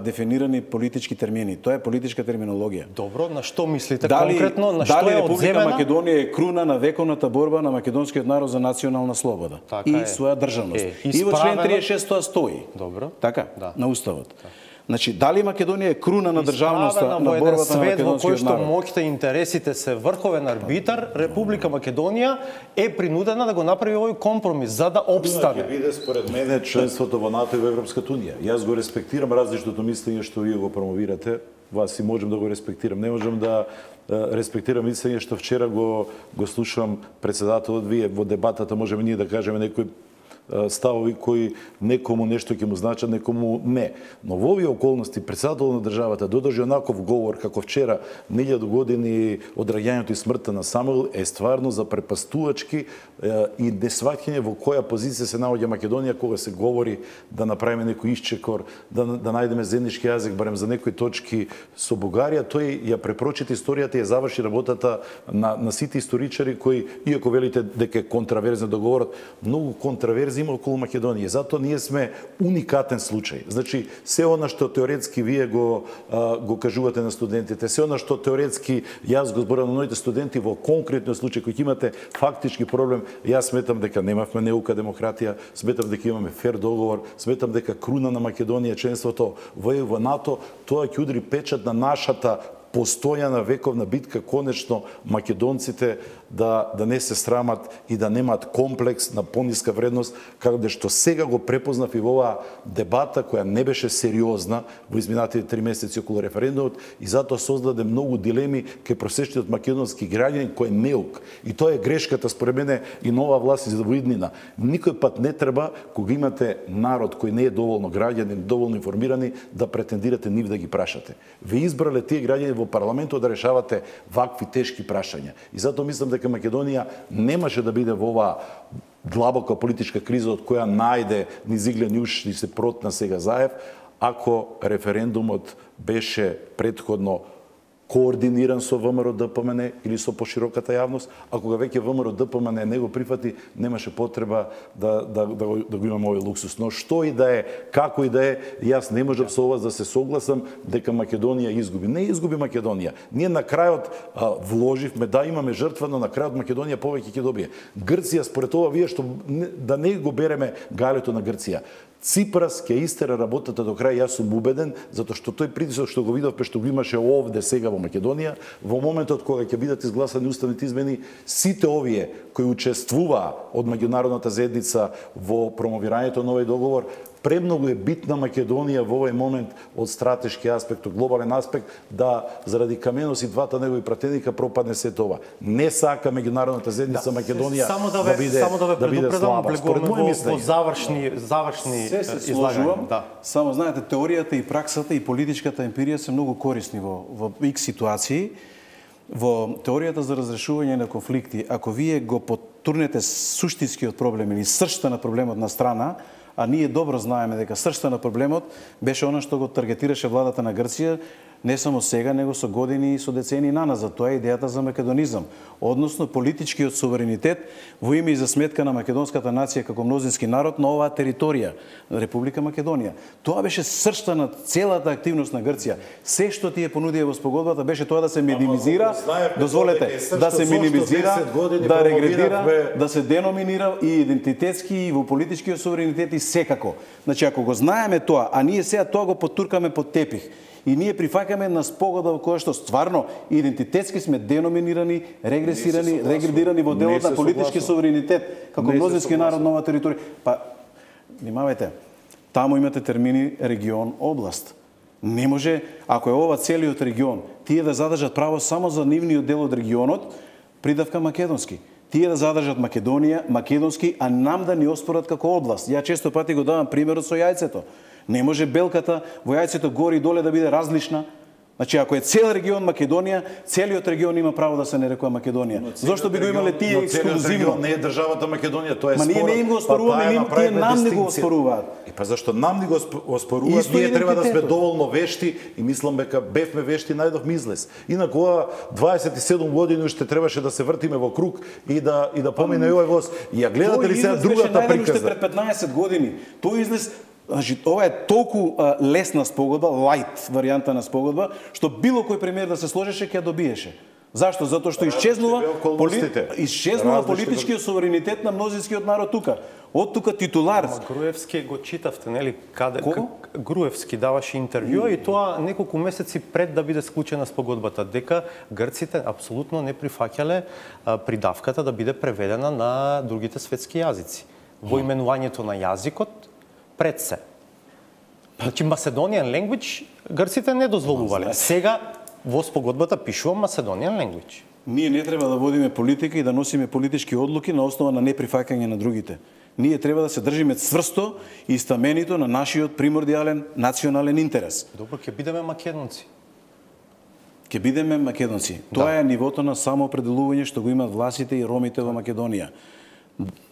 [SPEAKER 2] дефинирани политички термини. Тоа е политичка терминологија.
[SPEAKER 1] Добро, на што мислите конкретно? На што е
[SPEAKER 2] Република Македонија е круна на вековната борба на македонскиот народ за национална слобода и своја државност. И во член 36 тоа стои.
[SPEAKER 1] Добро.
[SPEAKER 2] Така, на уставот. Значи, дали Македонија е круна на државноста на борбата на македонскиот народ?
[SPEAKER 1] Во кој што моќта и интересите се врховен арбитар, Република Македонија е принудена да го направи овој компромис за да опстане.
[SPEAKER 3] Ќе биде според мене членството во НАТО и во Европската унија. Јас го респектирам различното мислење што вие го промовирате. Вас и можам да го респектирам. Не можам да респектирам мислење што вчера го слушам председателот. Вие во дебатата можеме ние да кажеме некои ставови кои некому нешто ќе му значат, некому не. Но во овие околности председател на државата додржи онаков говор како вчера, 1000 години од раѓањето и смртта на Самуил, е стварно запрепастувачки и несваќање во која позиција се наоѓа Македонија кога се говори да направиме некој исчекор, да најдеме заеднички јазик барем за некои точки со Бугарија. Тој ја препрочита историјата и ја заврши работата на сите историчари кои, иако велите дека е контраверзен договорот, многу контраверзи има околу Македонија. Затоа ние сме уникатен случај. Значи, се она што теоретски вие го кажувате на студентите, се она што теоретски јас го зборам на моите студенти, во конкретниот случај кој имате фактички проблем, јас сметам дека немавме неука демократија, сметам дека имаме фер договор, сметам дека круна на Македонија членството во НАТО, тоа ќе удри печат на нашата постојана вековна битка, конечно македонците да не се срамат и да немаат комплекс на пониска вредност, каде што сега го препознав и во оваа дебата која не беше сериозна во изминатите 3 месеци околу референдумот и затоа создаде многу дилеми кај просечниот македонски граѓанин кој е неук. И тоа е грешката според мене и нова власт за воиднина. Никој пат не треба кога имате народ кој не е доволно граѓанин, доволно информирани, да претендирате нив да ги прашате. Ве избрале тие граѓани во парламентот да решавате вакви тешки прашања. И затоа мислам дека Македонија немаше да биде во оваа длабока политичка криза од која најде низ иглен уш и се протна сега Заев, ако референдумот беше претходно координиран со ВМРО ДПМН или со пошироката јавност, а кога веќе ВМРО ДПМН не го прифати, немаше потреба да го имаме овој луксус. Но што и да е, како и да е, јас не можам со вас да се согласам дека Македонија изгуби. Не изгуби Македонија. Ние на крајот вложивме, да имаме жртва, но на крајот Македонија повеќе ќе добие. Грција, според ова вие што да не го береме галето на Грција. Ципрас ќе истера работата до крај, јас сум убеден, затоа што тој притисок што го видовме, што го имаше овде сега во Македонија, во моментот кога ќе бидат изгласани уставните измени, сите овие кои учествуваа од меѓународната заедница во промовирањето на овој договор, премногу е битна Македонија во овој момент од стратешки аспект, од глобален аспект, да заради Каменос и двата негови пратеника пропадне се тоа. Не сака меѓународната заедница Македонија да биде слаба. Според мој мислење.
[SPEAKER 1] Завршни
[SPEAKER 2] се сложувам. Само знаете, теоријата и праксата и политичката емпирија се многу корисни во X ситуации. Во теоријата за разрешување на конфликти, ако вие го потурнете суштинскиот проблем или сршта на проблемот на страна, а ние добро знаеме дека сршта на проблемот беше она што го таргетираше владата на Грција, не само сега, него со години и со децени наназад. Тоа е идејата за македонизам, односно политичкиот суверенитет во име и за сметка на македонската нација како мнозински народ на оваа територија, Република Македонија. Тоа беше сршта на целата активност на Грција. Се што тие понудија во спогодбата беше тоа да се минимизира, дозволете, да се минимизира, да регредира, да се деноминира и идентитетски и во политичкиот суверенитет и секако. Значи, ако го знаеме тоа, а ние сега тоа го потуркаме под тепих, и ние прифаќаме на спогодба во која што стварно идентитетски сме деноминирани, регресирани, регредирани во делот на политички суверенитет како мнозински народ на оваа територија. Па, внимавајте, таму имате термини регион, област. Не може, ако е ова целиот регион, тие да задржат право само за нивниот дел од регионот, придавка македонски. Тие да задржат Македонија, македонски, а нам да ни оспорат како област. Ја често пати го давам примерот со јајцето. Не може белката во јајцето горе и доле да биде различна. Значи, ако е цел регион Македонија, целиот регион има право да се нарекува Македонија. Зошто би го имале тие ексклузивно?
[SPEAKER 3] Не е државата Македонија, тоа е
[SPEAKER 2] спорот. Ма ние не им го оспоруваме, тие нам не го оспоруваат.
[SPEAKER 3] Па зашто нам не го оспоруваат, ние треба да сме доволно вешти и мислам дека бевме вешти, најдовме излез. Инаку ова 27 години уште требаше да се вртиме во круг и да помине овој воз. И ја гледате ли сега другата приказна?
[SPEAKER 2] Пред 15 години. Тој излез. Значи, ова е толку лесна спогодба, лајт варијанта на спогодба, што било кој премиер да се сложеше, ќе добиеше. Зашто? Затоа што исчезнува политичкиот суверенитет на мнозинскиот народ тука. Од тука титулар.
[SPEAKER 1] Груевски го читавте, нели? Груевски даваше интервју и тоа неколку месеци пред да биде склучена спогодбата, дека грците апсолутно не прифаќале придавката да биде преведена на другите светски јазици. Во именувањето на јазикот пред се. Значи, Macedonian language грците не дозволувале. Сега во спогодбата пишува Macedonian language.
[SPEAKER 2] Ние не треба да водиме политика и да носиме политички одлуки на основа на неприфаќање на другите. Ние треба да се држиме цврсто и стаменито на нашиот примордијален национален интерес.
[SPEAKER 1] Добро, ќе бидеме македонци.
[SPEAKER 2] Ќе бидеме македонци. Тоа е нивото на самоопределување што го имаат власите и ромите во Македонија.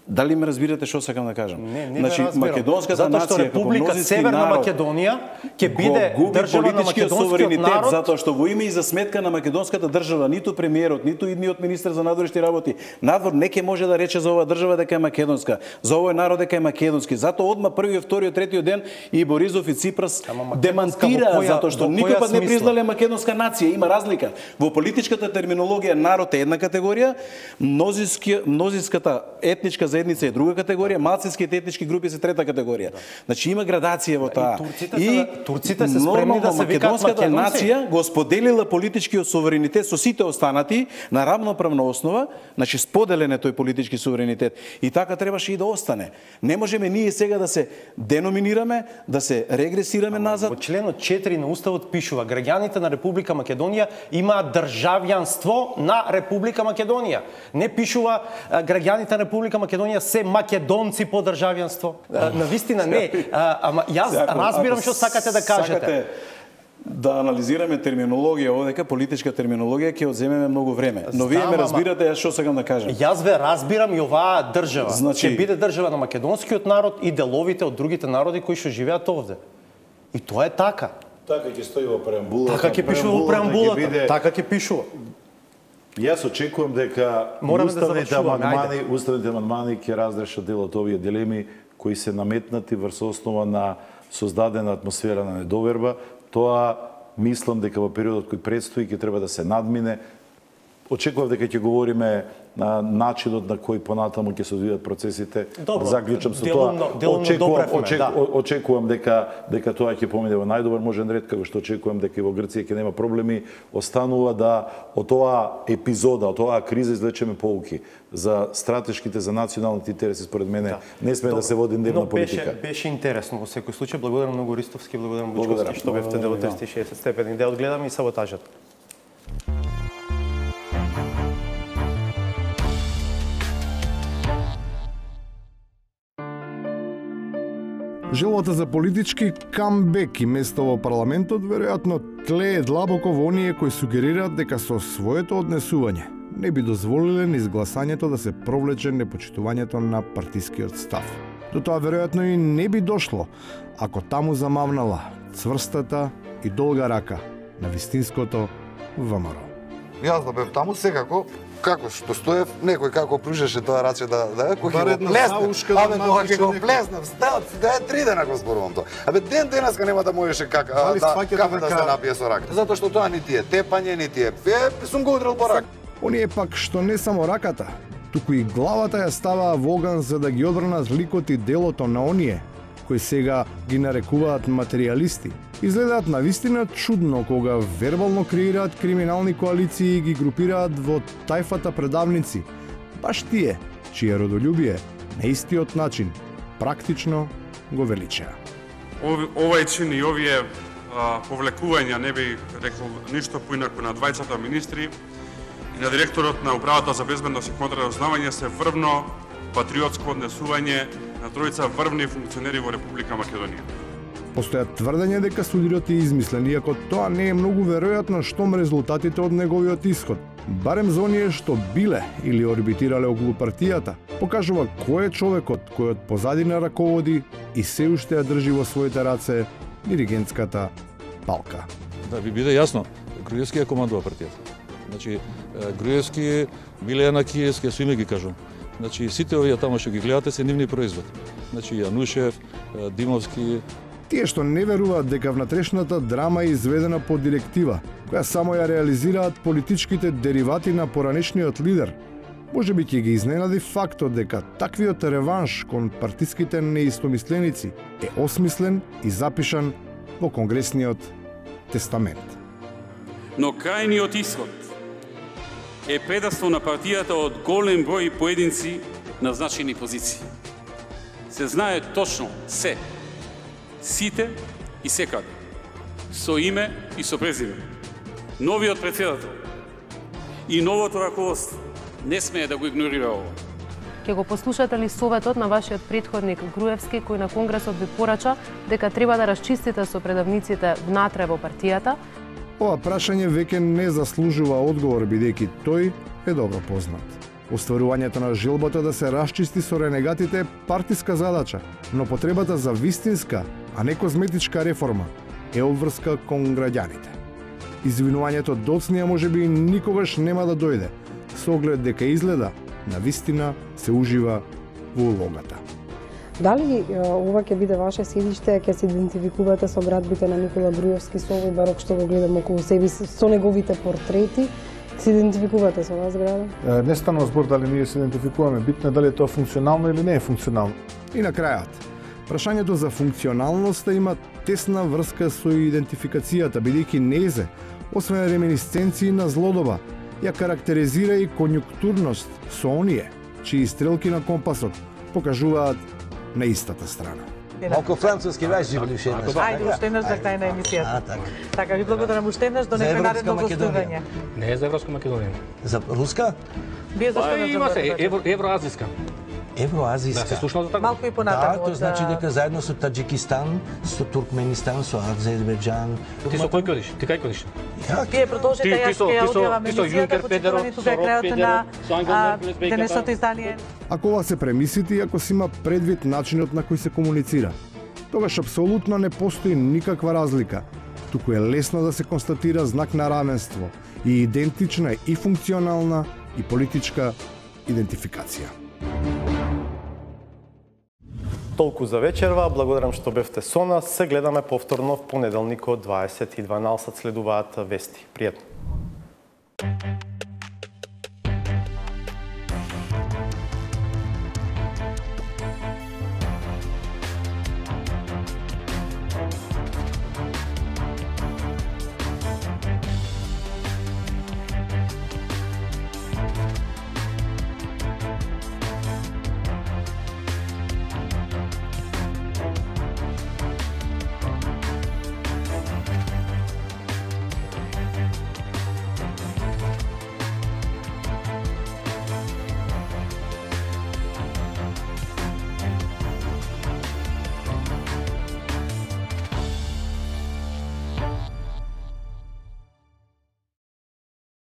[SPEAKER 2] Дали ме разбирате што сакам да кажам?
[SPEAKER 1] Не
[SPEAKER 2] значи, македонската
[SPEAKER 1] нација, затоа што Република Северна Македонија ќе биде држава на македонскиот народ,
[SPEAKER 2] затоа што во име и за сметка на македонската држава ниту премиерот, ниту идниот министер за надворешни работи, надвор не ќе може да рече за оваа држава дека е македонска, за овој народ дека е македонски. Затоа одма првиот, вториот, третиот ден и Борисов и Ципрас демантира затоа што никој пат не признале македонска нација. Има разлика. Во политичката терминологија народ е една категорија, мнозинската етничка заедница е друга категорија, малцинските етнички групи се трета категорија. Значи има градација во таа.
[SPEAKER 1] И турците се спремни да се викаат
[SPEAKER 2] македонската нација го споделила политичкиот суверенитет со сите останати на равноправна основа, значи споделен е тој политички суверенитет. И така требаше и да остане. Не можеме ние сега да се деноминираме, да се регресираме назад.
[SPEAKER 1] Во членот 4 на уставот пишува: граѓаните на Република Македонија имаат државјанство на Република Македонија. Не пишува граѓаните на Република Македонија се македонци по државјанство. Навистина не. Ама јас разбирам што сакате да кажете.
[SPEAKER 2] Да анализираме терминологија овдека, политичка терминологија, ќе одземеме многу време. Но вие ме разбирате јас што сакам да кажам.
[SPEAKER 1] Јас ве разбирам и оваа држава.
[SPEAKER 2] Значи,
[SPEAKER 1] ќе биде држава на македонскиот народ и деловите од другите народи кои што живеат овде. И тоа е така.
[SPEAKER 3] Така ќе стои во преамбулата.
[SPEAKER 1] Така ќе пишува во преамбулата. Така ќе пишува.
[SPEAKER 3] Јас очекувам дека уставните амандмани ќе разрешат дел од овие дилеми кои се наметнати врз основа на создадена атмосфера на недоверба. Тоа мислам дека во периодот кој предстои ќе треба да се надмине. Очекував дека ќе говориме на начинот на кој понатаму ќе се одвијат процесите. Заклучам со тоа. Очекувам дека тоа ќе помине во најдобар можен ред, како што очекувам дека и во Грција ќе нема проблеми. Останува да од оваа епизода, од оваа криза извлечеме поуки за стратешките, за националните интереси. Според мене не сме да се води дневна политика.
[SPEAKER 1] Беше интересно во секој случај. Благодарам многу Ристовски, благодарам Бучковски што бевте дел од 360 степени. Да одгледаме и саботажата.
[SPEAKER 4] Желбата за политички камбек и место во парламентот веројатно тлее длабоко во оние кои сугерираат дека со своето однесување не би дозволиле низ гласањето да се провлече непочитувањето на партискиот став. До тоа веројатно и не би дошло ако таму замавнала цврстата и долга рака на вистинското ВМРО.
[SPEAKER 5] Јас да бев таму секако, како што стоев, некој како пружеше тоа раче да кој ќе го плеснем. Абе кога ќе го плеснем, да е 3 дена го зборувам тоа. Абе денеска нема да можеше кафе да се напие со рака. Затоа што тоа ни ти е тепање, ни ти е. Сум го удрил по рака.
[SPEAKER 4] Оние пак што не само раката, туку и главата ја ставаа во оган за да ги одбранат ликот и делото на оние кои сега ги нарекуваат материјалисти. Изгледаат навистина чудно кога вербално креираат криминални коалиции и ги групираат во тајфата предавници. Баш тие, чие родолюбие на истиот начин практично го величаа.
[SPEAKER 6] Овај чин и овие повлекувања не би рекол ништо поинаку на двајцата министри и на директорот на Управата за безбедност и контрразузнавање се врвно патриотско однесување на тројца врвни функционери во Република Македонија.
[SPEAKER 4] Постојат тврдења дека судирот е измислен, иако тоа не е многу веројатно штом резултатите од неговиот исход, барем за оние што биле или орбитирале околу партијата, покажува кој е човекот кој од позадина раководи и се уште ја држи во своите раце диригентската палка.
[SPEAKER 7] Да ви биде јасно, Груевски ја командува партијата. Значи, Груевски, Милена Киевски, со име ги кажувам. Значи, сите овие таму што ги гледате се нивни производ. Значи, Јанушев, Димовски.
[SPEAKER 4] Тие што не веруваат дека внатрешната драма е изведена по директива, која само ја реализираат политичките деривати на поранешниот лидер, можеби ќе ги изненади фактот дека таквиот реванш кон партиските неистомисленици е осмислен и запишан во Конгресниот тестамент.
[SPEAKER 8] Но крајниот исход е предавство на партијата од голем број поединци на значени позиции. Се знае точно се, сите и секаде, со име и со презиме. Новиот претседател и новото раководство не смее да го игнорира ова.
[SPEAKER 9] Ке го послушате ли советот на вашиот претходник Груевски, кој на Конгресот ви порача дека треба да расчистите со предавниците внатре во партијата?
[SPEAKER 4] Ова прашање веќе не заслужува одговор, бидејќи тој е добро познат. Остварувањето на желбата да се расчисти со ренегатите е партиска задача, но потребата за вистинска, а не козметичка реформа е обврска кон граѓаните. Извинувањето доцнија можеби никогаш нема да дојде, со оглед дека изгледа на вистина се ужива во улогата.
[SPEAKER 10] Дали ова ќе биде ваше седиште, ќе се идентификувате со градбите на Никола Груевски, со овој барок што го гледам околу себе, со неговите портрети? Се идентификувате со оваа зграда?
[SPEAKER 11] Не станува збор дали ние се идентификуваме, битно е дали е тоа функционално или не е функционално.
[SPEAKER 4] И на крајот, прашањето за функционалноста има тесна врска со идентификацијата, бидејќи незе, освен реминисценции на злодоба, ја карактеризира и конјунктурност со оние, чии стрелки на компасот покажуваат на истата страна.
[SPEAKER 12] Малку француски веќе живели уште еднаш.
[SPEAKER 13] Ајде, уште еднаш за крај на емисијата. Така, ви благодарам уште еднаш, до некој наредно гостување.
[SPEAKER 12] Не е за Европска Македонија. За руска?
[SPEAKER 13] Вие зашто
[SPEAKER 12] има се евроазиска. Евроазиска. Да, се слушнал за така.
[SPEAKER 13] Малку и понатаму.
[SPEAKER 12] Да, тоа значи дека заедно со Таџикистан, со Туркменистан, со Азербејџан. Ти со кој кодиш? Ти кај кодиш?
[SPEAKER 13] Вие продолжите, јас ќе ја одјавам емисијата, почитувани тука е крајот на денешното издание.
[SPEAKER 4] Ако ова се премислите и ако се има предвид начинот на кој се комуницира, тогаш апсолутно не постои никаква разлика. туку е лесно да се констатира знак на равенство и идентична е и функционална и политичка идентификација.
[SPEAKER 1] Толку за вечерва, благодарам што бевте со нас. Се гледаме повторно в понеделник од 20:12. Следуваат вести. Пријатно.